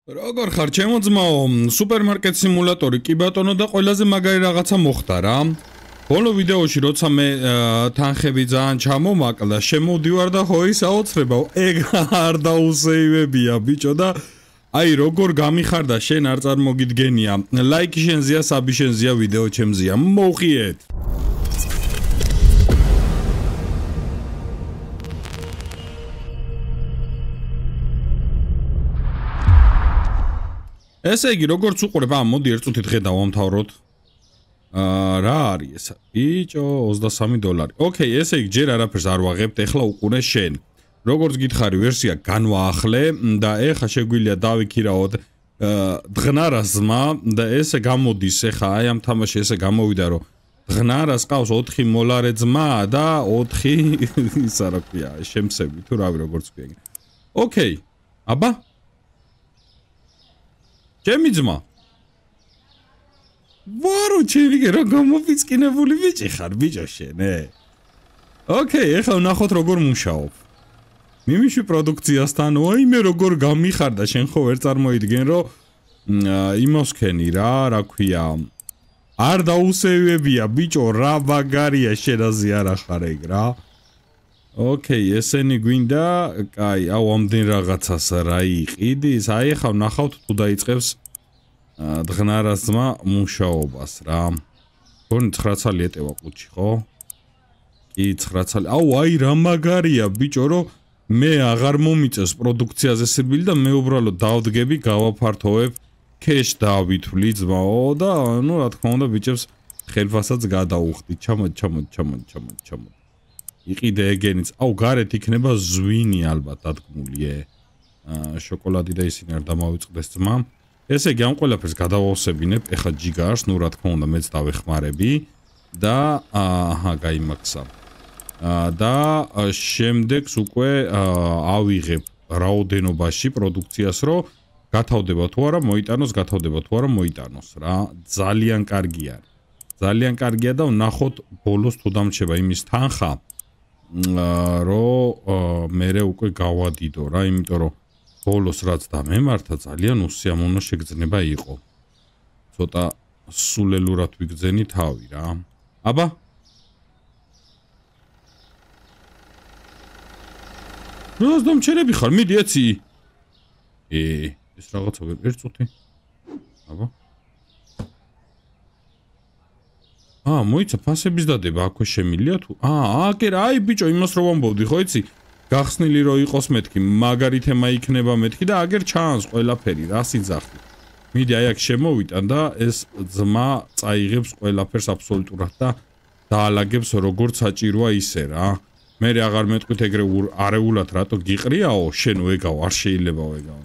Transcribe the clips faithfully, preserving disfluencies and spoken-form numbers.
როგორ ხარ ჩემო ძმაო, სუპერმარკეტ სიმულატორი კი ბატონო და ყველაზე მაგარი რაღაცა მოხდა რა. ბოლო ვიდეოში როცა მე თანხები ძალიან ჩამომაკლა, შემოვდივარ და ხო ის აოცრება, ეგ არ დაუსეივებია ბიჭო და აი როგორ გამიხარდა შენ არ წარმოგიდგენია. ლაიქი შენზეა, საბი შენზეა, ვიდეო ჩემზეა. მოუხიეთ. ესე იგი, როგორც უყურებ, ამ მოდი ერთ წუთი დღე დავამთავროთ. აა რა არის ეს? ბიჭო, ოცდასამი დოლარი. ოკეი, ესე იგი, ჯერ არაფერს არ ვაღებთ, ეხლა უყურე შენ. როგორც გითხარი, ვერსია განვაახლე და ეხლა შეგვიძლია დავიქირაოთ დღნარას ძმა და ესე გამოდის, ეხლა აი ამ თამაში ესე გამოვიდა, რომ დღნარას ყავს ოთხი მოლარე ძმა და ოთხი ისა რა ქვია, შემსები თუ რავი როგორც ქვია. ოკეი. აბა ჩემი ძმა. ვარო ჩემი რა გამოფიცკინებული ბიჭი ხარ ბიჭო შენ, ე? ოკეი, ეხლა ვნახოთ როგორ მუშაობ. მიმიში პროდუქციასთან, ой, მე როგორ გამიხარდა შენ ხო ვერ წარმოიდგენ, რომ იმას ქენი რა, რა ქვია. არ დაუსევებია ბიჭო, რა ბაგარია შენაზე არ ახარ ეგ რა. ოკეი, ესენი გვინდა, კაი, აუ ამდენ რაღაცას რა იყიდის, აი ახლა ვნახავთ თუ დაიწყებს დღნარას ძმა მუშაობას რა. გონი ცხრა ცალი ეტევა ყუთში, ხო? კი, ცხრა ცალი. აუ, აი რა მაგარია ბიჭო, რომ მე აღარ მომიწევს პროდუქციაზე სირბილი და მე უბრალოდ დავდგები, გავაფართოვებ, ქეშ დავითვლი ძმაო და ну, რა თქმა უნდა, ბიჭებს ხელფასაც გადაუხდი. ჩამოდი, ჩამოდი, ჩამოდი, ჩამოდი, ჩამოდი. იყიდე ეგენიც. აუ, გარეთ იქნება ზვინი ალბათ დადგმული, ე. აა შოკოლადი და ისინი არ დამავიწყდეს ძმა. ესე იგი, ამ ყველაფერს გადავავსებინებ, ეხა ჯიგარს, ну, რა თქმა უნდა, მეც დავეხმარები და აჰა, გაიმაქსა. და შემდეგს უკვე ავიღებ რაოდენობაში პროდუქციას, რომ გათავდება თუ არა მოიტანოს, გათავდება თუ არა მოიტანოს რა. ძალიან კარგი არის. ძალიან კარგია და ვნახოთ ბოლოს თუ დამრჩება იმის თანხა, რომ მერე უკვე გავადიდო რა, იმიტომ რომ ბოლოს რაც დამემართა ძალიან უსიამოვნო შეგრძნება იყო. ცოტა სულელურად ვიგრძენი თავი რა. აბა რას დამჩერები ხარ? მიდი ეცი. ე, ეს რაღაცა ვერ ერთ წუთი. აბა. აა, მოიცა ფასების დადება, აქვე შემილია თუ? აა, აკერა, აი ბიჭო, იმას რო ვამბობდი, ხო იცი? გახსნილი რო იყოს მეთქი, მაგარი თემა იქნება მეთქი და აგერ ჩანს ყველაფერი, რა სიძახი. მიდი აი აქ შემოვიტან და ეს ძმა წაიღებს ყველაფერს აბსოლუტურად და დაალაგებს როგორც საჭიროა ისე რა. მე აღარ მეტყვით ეგრე არეულად რატო გიყრიაო, შენ ვეგავ, არ შეიძლება ვეგავ.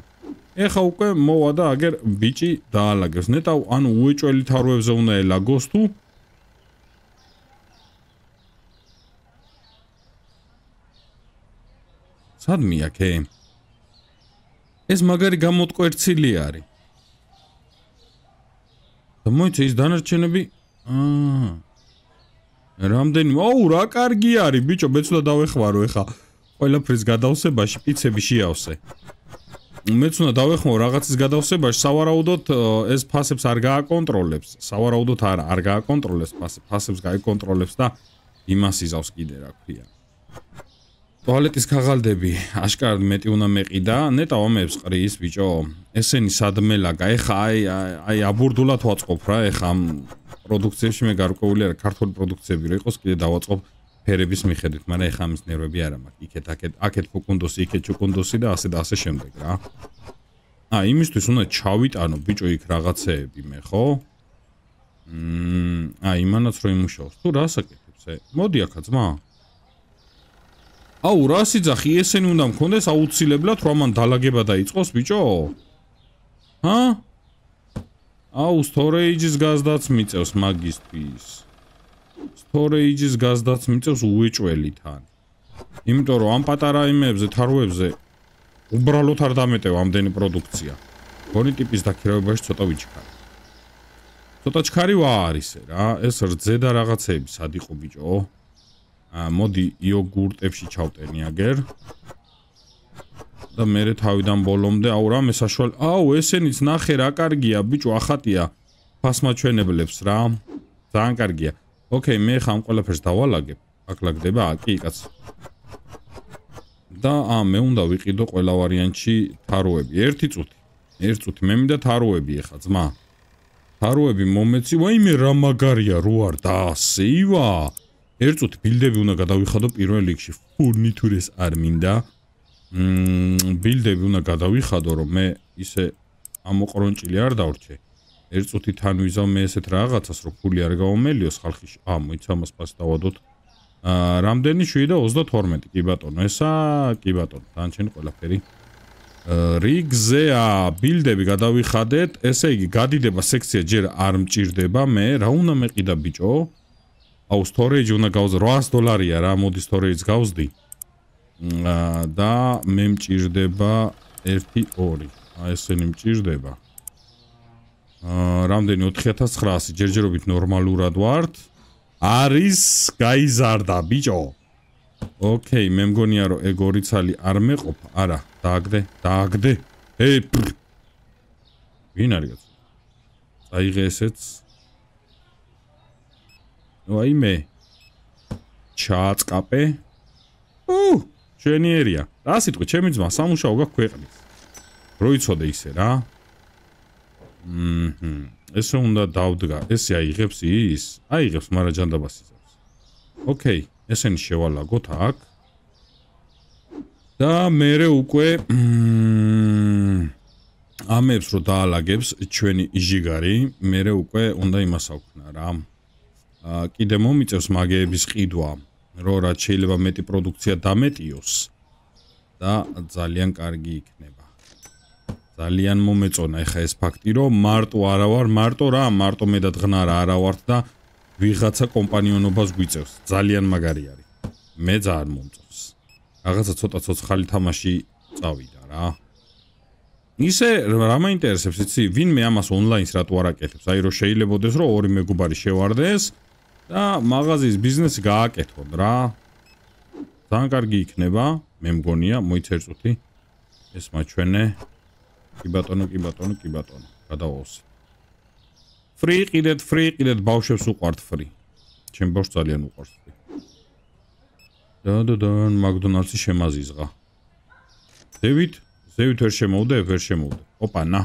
ეხა უკვე მოვა და აგერ ბიჭი დაალაგებს. ნეტავ, ანუ უეჭველი თაროებზე უნდა ელაგოს თუ სადმე აქე? ეს მაგარი გამოტკვერცილი არის. და მოიცა ის დანარჩენები, აა რამდენი, აუ რა კარგი არის ბიჭო, მეც უნდა დავეხმარო ეხა ყველაფრის გადავსებაში, პიცები შეავსე. მეც უნდა დავეხმარო რაღაცის გადავსებაში, სავარაუდოდ ეს ფასებს არ გააკონტროლებს, სავარაუდოდ არა, არ გააკონტროლებს ფასებს, ფასებს გაიკონტროლებს და იმას იზავს კიდე რა ქვია. ტუალეტის ქაღალდები აშკარად მეტი უნდა მეყიდა, ნეტავ ამებს ყრის ბიჭო. ესენი სადმელაგა, ეხა აი აი აბურდულად ვაწყობ რა, ეხა ამ პროდუქციებში მე გარკვეული არა, ქართული პროდუქციები რო იყოს, კიდე დავაწყობ ფერების მიხედვით, მაგრამ ეხა ამის ნერვები არა მაქვს. იქეთ, აქეთ, აქეთ ფუკუნდოსი, იქეთ ჩუკუნდოსი და ასე და ასე შემდეგ რა. აა, იმისთვის უნდა ჩავიტანო ბიჭო იქ რაღაცეები მე, ხო? მმ, აი, იმანაც რო იმუშაოს. თუ რას აკეთებს, ე? მოდი აქა ძმა. აუ, რა სიძახი, ესენი უნდა მქონდეს აუცილებლად, რომ ამან დალაგება დაიწყოს ბიჭო? ჰა? აუ, storage-ის გაზდაც მიწევს მაგისთვის. storage-ის გაზდაც მიწევს უეჭველი თან. იმიტომ რომ ამ პატარა იმებზე, თაროებზე უბრალოდ არ დამეტევა ამდენი პროდუქცია. გონი ტიპის დაქირავებაში ცოტა ვიჩქარი. ცოტა ჩქარი ვა არის რა, ეს რძე და რაღაცეები სად იყო ბიჭო? აა, მოდი იოგურტებში ჩავტენი აგერ. და მე თავიდან ბოლომდე აუ რამე საშუალო აუ ესენიც ნახე რა კარგია ბიჭო ახატია ფასმაჩვენებლებს რა ძალიან კარგია ოკეი მე ხა ამ ყველაფერს დავალაგებ აქ ლაგდება კი კაც და ა მე უნდა ვიყიდო ყველა ვარიანტში თაროები ერთი წუთი ერთი წუთი მე მინდა თაროები ეხა ძმა თაროები მომეცი ვაიმე რა მაგარია რო არ და ასე ივა ერთი წუთი ბილდები უნდა გადავიხადო პირველ რიგში ფურნიტურას არ მინდა მმ ბილდები უნდა გადავიხადო რომ მე ისე ამოყრონჭილი არ დავრჩე ერთი წუთი თან ვიზავ მე ესეთ რაღაცას რომ ფული არ გავომელიოს ხალხი ა მოიცა მას პას დავადოთ აა რამდენი შვიდი და ოცდათორმეტი კი ბატონო ესა კი ბატონო დანჩენი ყველაფერი რიგზეა ბილდები გადავიხადეთ ესე იგი გადიდება სექცია ჯერ არ მჭირდება მე რა უნდა მეყიდა ბიჭო აუ storage უნდა გავზ რვაას დოლარია რა მოდი storage გავზდი და მე მჭირდება ერთი ორი აი ესენი მჭირდება აა რამდენი ოთხი ათას ცხრაასი ჯერჯერობით ნორმალურად ვართ არის გაიზარდა ბიჭო ოკეი მე მგონია რომ ეგ ორი ცალი არ მეყოფა არა დააგდე დააგდე ე ვინ არის კაცო წაიღე ესეც აი მე ჩააწკაპე უ შენიერია რა სიტყვი ჩემი ძმა სამუშაო გაქვს ქვეყნის რო იცოდე ისე რა მმ ესე უნდა დავდგა ესე აიღებს ის აიღებს მაგრამ ჯანდაბას იზავს ოკეი ესენი შევალაგოთ აქ და მე უკვე ამებს რო დაალაგებს ჩვენი ჟიგარი მე უკვე უნდა იმას აქვნა რა კიდე მომიწევს მაგეების ყიდვა რო რაც შეიძლება მეტი პროდუქცია დამეტიოს და ძალიან კარგი იქნება ძალიან მომეწონა ეხა ეს ფაქტი რომ მარტო არა ვარ მარტო რა მარტო მე და დღნარა არა ვართ და ვიღაცა კომპანიონობას გვიწევს ძალიან მაგარი არის მე ძალიან მომწონს რაღაცა ცოტა ცოცხალი თამაში წავიდა რა ისე რა მაინტერესებს იცი ვინმე ამას ონლაინს რატო არ აკეთებს აი რომ შეიძლებაოდეს რომ ორი მეგობარი შევარდეს და მაღაზიის ბიზნესი გააკეთონ რა ძალიან კარგი იქნება მე მგონია მოიცა ერთი წუთი ეს მაჩვენე კი ბატონო კი ბატონო კი ბატონო გადავავსე ფრი ყიდეთ ფრი ყიდეთ ბავშვებს უყვართ ფრი ჩემ ბავშვს ძალიან უყვარს ფრი და და და მაკდონალდსი შემაზიზღა დევით ზევით ვერ შემოვდე ვერ შემოვდე ოპა ნა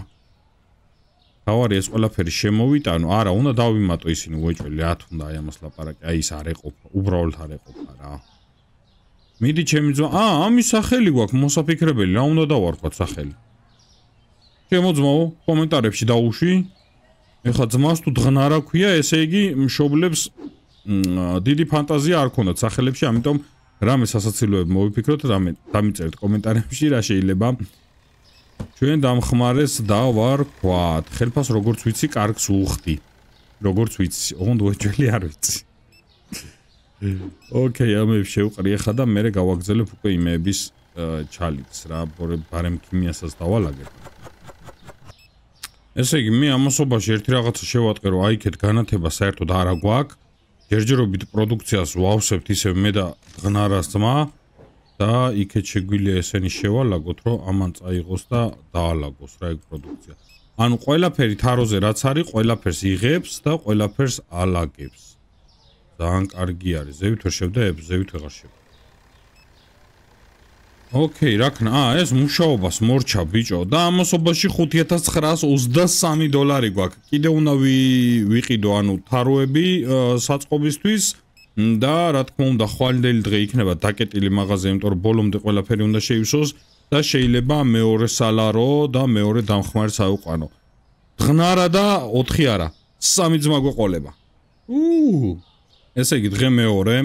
თავარი ეს ყველაფერი შემოვიტანო არა უნდა დავიმატო ისინი უეჭველი ათ უნდა აი ამას ლაპარაკი აი ის არ ეყოფა უბრალოდ არ ეყოფა რა მიდი ჩემი ძმა აა ამის სახელი გვაქვს მოსაფიქრებელი რა უნდა დავარქვათ სახელი ჩემო ძმაო კომენტარებში დაუშვი ეხა ძმას თუ დღნარა ქვია ესე იგი მშობლებს დიდი ფანტაზია არ ქონდათ სახელებში ამიტომ რამე სასაცილოები მოვიფიქროთ რამე დამიწერეთ კომენტარებში რა შეიძლება ჩვენ დამხმარეს და ვარქვათ ხელფას როგორც ვიცი კარგს უხდი როგორც ვიცი ოღონდ უეჭველი არ ვიცი ოკეი ამებს შევყრი ახლა და მე გავაგზელებ უკვე იმეების ჩალიც რა ბარემ ქიმიასაც დავალაგებ ესე იგი მე ამასობაში ერთი რაღაცა შევატყე რომ აიქეთ განათება საერთოდ არა გვაქვს ჯერჯერობით პროდუქციას ვავსებთ ისე მე და დღნარას ძმა და იქეთ შეგვიძლია ესენი შევალაგოთ რომ ამან წაიღოს და დაალაგოს რა ეგ პროდუქცია ანუ ყველაფერი თაროზე რაც არის ყველაფერს იღებს და ყველაფერს ალაგებს ძალიან კარგი არის ზევით ვერ შევდებ ზევით ვეღარ შევდებ ოკეი რა ქნა აა ეს მუშაობას მორჩა ბიჭო და ამასობაში ხუთი ათას ცხრაას ოცდასამი დოლარი გვაქვს კიდე უნდა ვიყიდო ანუ თაროები საწყობისთვის და რა თქმა უნდა ხვალინდელი დღე იქნება დაკეტილი მაღაზია იმიტომ რომ ბოლომდე ყველაფერი უნდა შეივსოს და შეიძლება მეორე სალარო და მეორე დამხმარეს აუყანო დღნარა და ოთხი არა სამი ძმა გვეყოლება უ ესე იგი დღე მეორე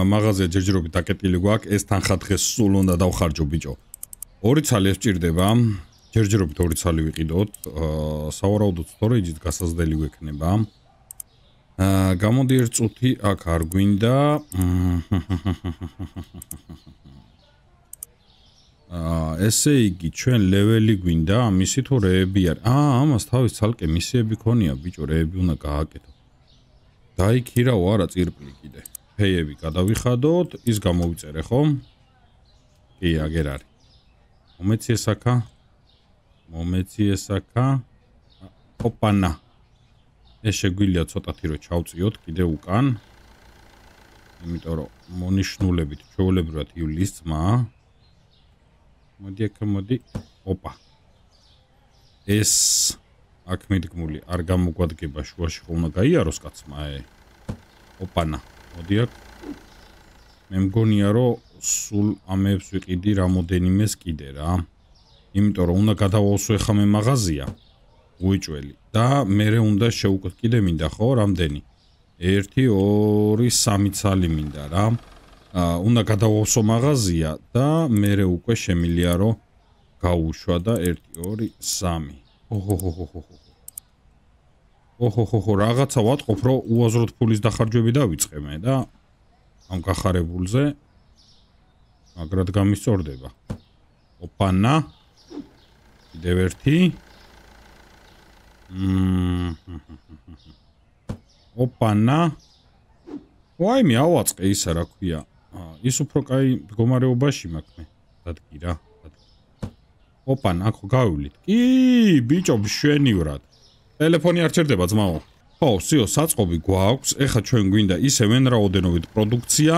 მაღაზია ჯერჯერობით დაკეტილი გვაქვს ეს თანხა დღეს სულ უნდა დავხარჯო ბიჭო ორი ცალი ეს ჭირდება ჯერჯერობით ორი ცალი ვიყიდოთ სავარაუდოდ storage-ით გასაზრდელი გვექნება აა გამოდი ერთ წუთი აქ არ გვინდა აა ესე იგი ჩვენ ლეველი გვინდა მისი თუ რეები არის აა ამას თავის ცალკე მისიები ქონია ბიჭო რეები უნდა გააკეთო დაიქირავ არა წირპლი კიდე ფეიები გადავიხადოთ ის გამოვიწერე ხომ კი აგერ არის მომეცი ეს აქა. მომეცი ეს აქა. ოპანა. ეს შეგვიძლია ცოტათი რომ ჩავწიოთ კიდე უკან. იმიტომ რომ მონიშნულებით ჩვეულებრივად ივლის ძმა. მოდი აქ მოდი. ოპა. ეს აქ მიდგმული არ გამოგვადგება შუაში ხო უნდა გაიაროს კაცმა ე. ოპანა. მოდი აქ. მე მგონია რომ სულ ამებს ვიყიდი რამოდენიმეს კიდე რა. იმიტომ რომ უნდა გადავავსო ახლა მე მაღაზია. უეჭველი და მე უნდა შევუკოთ კიდე მინდა ხო რამდენი? ერთი, ორი, სამი ცალი მინდა რა. აა უნდა გადავავსო მაღაზია და მე უკვე შემილია რომ გაუშვა და ერთი, ორი, სამი. ოჰოჰოჰოჰო. ოჰოჰოჰო, რაღაცა ვატყობ, რომ უაზროდ ფულის დახარჯვები დავიწყე მე და ამ გახარებულზე მაგრად გამისწორდება. ოპანა. კიდევ ერთი. ოპანა. ვაიმე ავაწყე ისა რა ქვია. ის უფრო კაი მდგომარეობაში მაქვს მე. დადგი რა. ოპანა, აქ გავივლით. კი, ბიჭო, მშვენივრად. ტელეფონი არ ჩერდება ძმაო. ხო, სიო, საწყობი გვაქვს. ეხა ჩვენ გვინდა ისე ვენრაოდენობით პროდუქცია.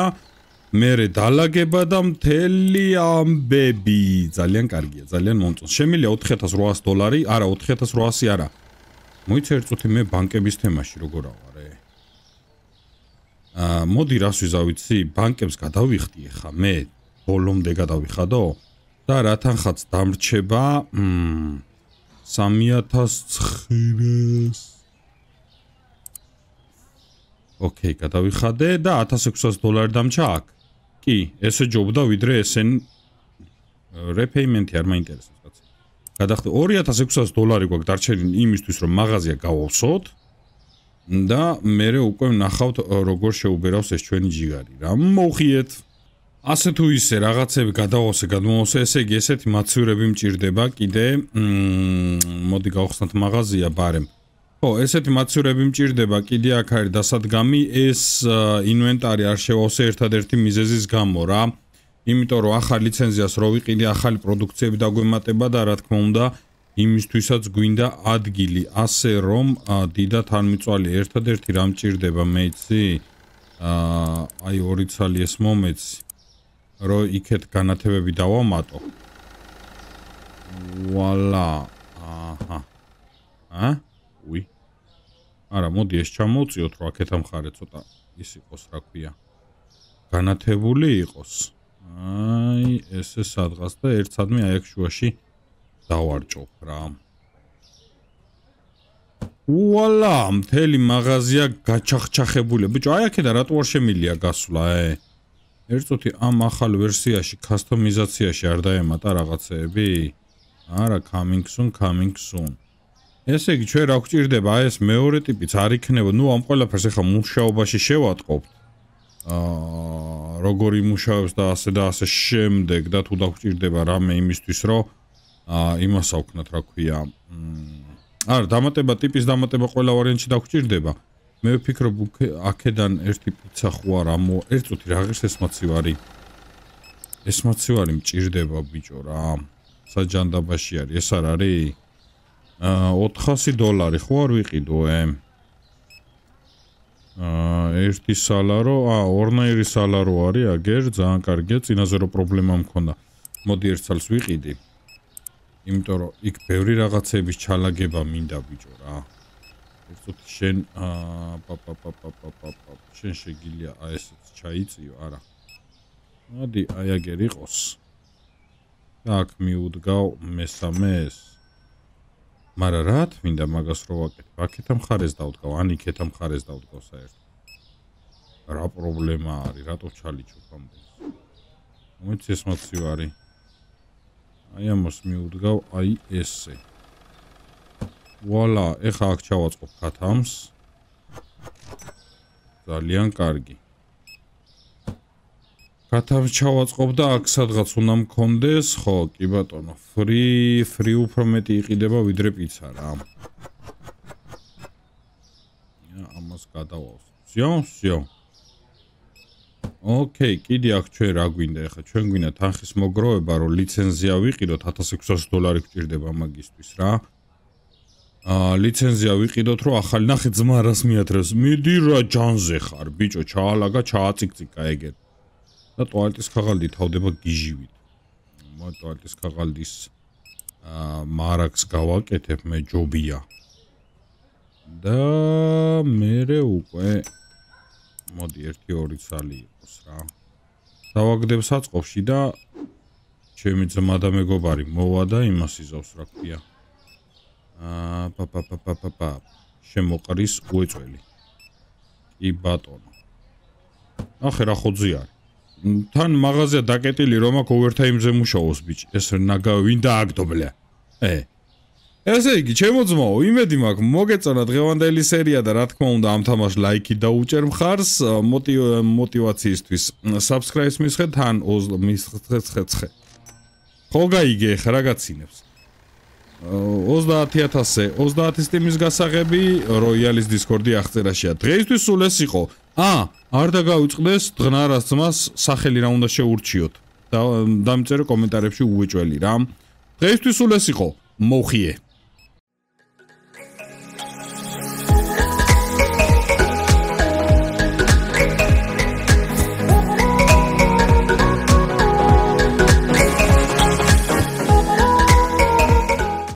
მერე დალაგება და მთელი ამბები. ძალიან კარგია, ძალიან მომწონს. შემიძლია ოთხი ათას რვაასი დოლარი, არა ოთხი ათას რვაასი არა. მოიცა ერთწუთი მე ბანკების თემაში როგორ ავარე. აა, მოდი რას ვიზავიცი, ბანკებს გადავიხდი ეხა მე, ბოლომდე გადავიხადო და რა თანხაც დამრჩება, მმ სამი ათას ცხრას. ოკეი, გადავიხადე და ათას ექვსას დოლარი დამჭა აქ. კი, ესე ჯობდა ვიდრე ესენ რეპეიმენტი არ მაინტერესებს კაცი. გადახდე ორი ათას ექვსას დოლარი გვაქვს დარჩენილი იმისთვის რომ მაღაზია გავავსოთ და მე უკვე ვნახავთ როგორ შეუბერავს ეს ჩვენი ჯიგარი რა. მოუხიეთ. ასე თუ ისე რაღაცები გადავავსე, გადმოვავსე, ესე იგი ესეთი მაცვირები მჭირდება კიდე. მოდი გავხსნათ მაღაზია ბარემ. ხო, ესეთი მაცვირები მჭირდება კიდე აქ არის დასადგამი, ეს ინვენტარი არ შევავსე ერთადერთი მიზეზის გამო რა. იმიტომ რომ ახალ ლიცენზიას რო ვიყიდე, ახალი პროდუქციები დაგვემატება და რა თქმა უნდა, იმისთვისაც გვინდა ადგილი, ასე რომ დიდად არ მიწვალი ერთადერთი რა მჭირდება მე იცი? აა, აი ორი ცალი ეს მომეცი, რომ იქეთ განათებები დავამატო. ვალა. აჰა. ა? უი. არა, მოდი ეს ჩამოვწიოთ, რომ აქეთ ამხარე ცოტა ის იყოს, რა ქვია. განათებული იყოს. აი, ესე სადღაც და ერთადმე აი აქ შუაში დავარჭობ რა. ვალა, მთელი მაღაზია გაჩახჩახებულია. ბიჭო, აი აქედან რატო არ შემილია გასვლა, ე? ერთწუთი ამ ახალ ვერსიაში, კასტომიზაციაში არ დაემატა რაღაცეები? არა, coming soon, coming soon. ესე იგი ჩვენ რა გვჭირდება, აი ეს მეორე ტიპიც არ იქნება, ნუ ამ ყველაფერს ახლა მუშაობაში შევატყობთ. აა, როგორ იმუშავებს და ასე და ასე შემდეგ და თუ დაგვჭირდება რამე იმისთვის, რომ აა იმას ავქნათ, რა ქვია. არა, დამატება ტიპის დამატება ყველა ვარიანტში დაგვჭირდება. მე ვფიქრობ, აქედან ერთი პიცა ხო არ ამო, ერთწუთი რა ღირს ეს მაცივარი. ეს მაცივარი მჭირდება ბიჭო რა. საჯანდაბაში არის, ეს არ არის? აა ოთხასი დოლარი ხო არ ვიყიდო ე? აა ერთი სალარო, აა ორნაირი სალარო არის, აგერ ძალიან კარგია, წინაზე რო პრობლემა მქონდა. მოდი ერთ წელს ვიყიდი. იმიტომ რომ იქ ბევრი რაღაცების ჩალაგება მინდა ბიჭო რა. ერთწუთი შენ აა პაპაპაპაპაპაპ შენ შეგილია აი ესეც ჩაიწიო, არა. მოდი აი აგერ იყოს. და აქ მიუდგავ მესამეს. მაგრამ რა მინდა მაგას რო ვაკეთებ? აქეთ ამხარეს დავდგავ, ან იქეთ ამხარეს დავდგავ საერთოდ. რა პრობლემა არის? რატო ჩალიჩობ ამდენს? მომეცი ეს მაცივარი. აი ამას მიუდგავ, აი ესე. ვალა, ეხა აქ ჩავაწყობ ქათამს. ძალიან კარგი. ქათამს ჩავაწყობ და აქ სადღაც უნდა მქონდეს, ხო, კი ბატონო, ფრი, ფრი უფრო მეტი იყიდება ვიდრე პიცა რა. ამას გადავავსო. სიო, სიო. ოკეი, კიდე აქ ჩვენ რა გვინდა ეხლა? ჩვენ გვინდა თანხის მოგროვება, რომ ლიცენზია ვიყიდოთ ათას ექვსასი დოლარი გვჭირდება მაგისთვის რა. აა ლიცენზია ვიყიდოთ, რომ ახალი ნახე ძმა რას მიათრევს. მიდი რა ჯანზე ხარ, ბიჭო, ჩაალაგა, ჩააწიკწიკა ეგეთ. და ტუალეტის ქაღალდი თავდება გიჟივით. მო ტუალეტის ქაღალდის აა მარაგს გავაკეთებ, მე ჯობია. და მერე უკვე მოდი ერთი ორი ცალი იყოს რა. დავაგდებ საწყობში და ჩემი ძმა და მეგობარი მოვა და იმას იზავს რა ქვია. აა პა პა პა პა პა შემოყრის უეწველი. კი ბატონო. ახე რა ხოძი არის. თან მაღაზია დაკეტილი რომ აქ ოვერთაიმზე მუშაობს ბიჭი. ეს ნაგა ვინ დააგდობლე. ე ესე იგი, ჩემო ძმაო, იმედი მაქვს, მოგეწონა დღევანდელი სერია და რა თქმა უნდა ამ თამაშს ლაიქი დაუჭერ მხარს, მოტივაციისთვის. Subscribe-ს მისხე თან მისხე. ხო გაიგე ხა რა გაცინებს. ოცდაათი ათასზე ოცდაათი სტიმის გასაღები როიალის Discord-ი აღწერაშია. დღეისთვის სულ ეს იყო. აა, არ დაგავიწყდეს დღნარას ძმას სახელი რა უნდა შეურჩიოთ. და დამწერე კომენტარებში უეჭველი რა. დღეისთვის სულ ეს იყო. მოხიე